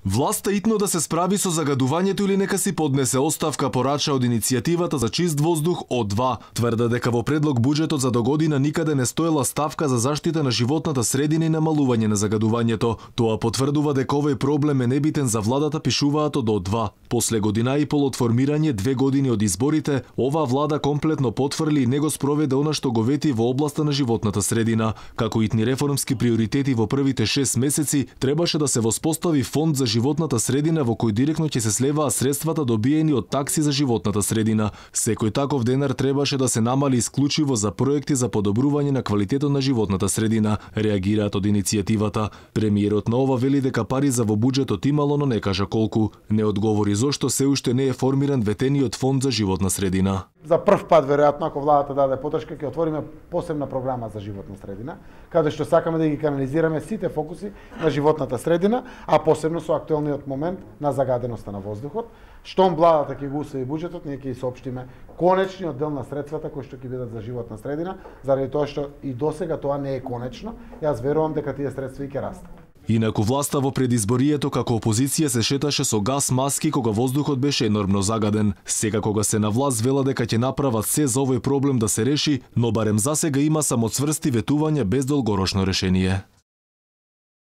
Власта итно да се справи со загадувањето или нека си поднесе оставка, порача од иницијативата за чист воздух О2. Тврда дека во предлог буџетот за догодина никаде не стоела ставка за заштита на животната средина и намалување на загадувањето. Тоа потврдува дека овој проблем е небитен за владата, пишуваат од О2. После година и пол од формирање, 2 години од изборите, оваа влада комплетно потврли и не го спроведе она што го вети во областа на животната средина. Како итни реформски приоритети во првите 6 месеци, требаше да се воспостави фонд за животната средина во кој директно ќе се слеваат средствата добиени од такси за животната средина. Секој таков денар требаше да се намали исклучиво за проекти за подобрување на квалитетот на животната средина, реагираат од иницијативата. Премиерот на ова вели дека пари за во буџетот имало, но не кажа колку. Не одговори зошто се уште не е формиран ветениот фонд за животна средина. За прв пат, веројатно, ако владата даде подршка, ќе отвориме посебна програма за животна средина, каде што сакаме да ги канализираме сите фокуси на животната средина, а посебно со актуелниот момент на загаденоста на воздухот. Штом владата ќе го усвои буџетот, ние ќе соопштиме конечниот дел на средствата кои што ќе бидат за животна средина, заради тоа што и досега тоа не е конечно. Јас верувам дека тие средства и ќе растат. Инаку власта во предизборието како опозиција се шеташе со гас маски кога воздухот беше енормно загаден. Сега кога се на власт вела дека ќе направат се за овој проблем да се реши, но барем засега има само цврсти ветувања без долгорочно решение.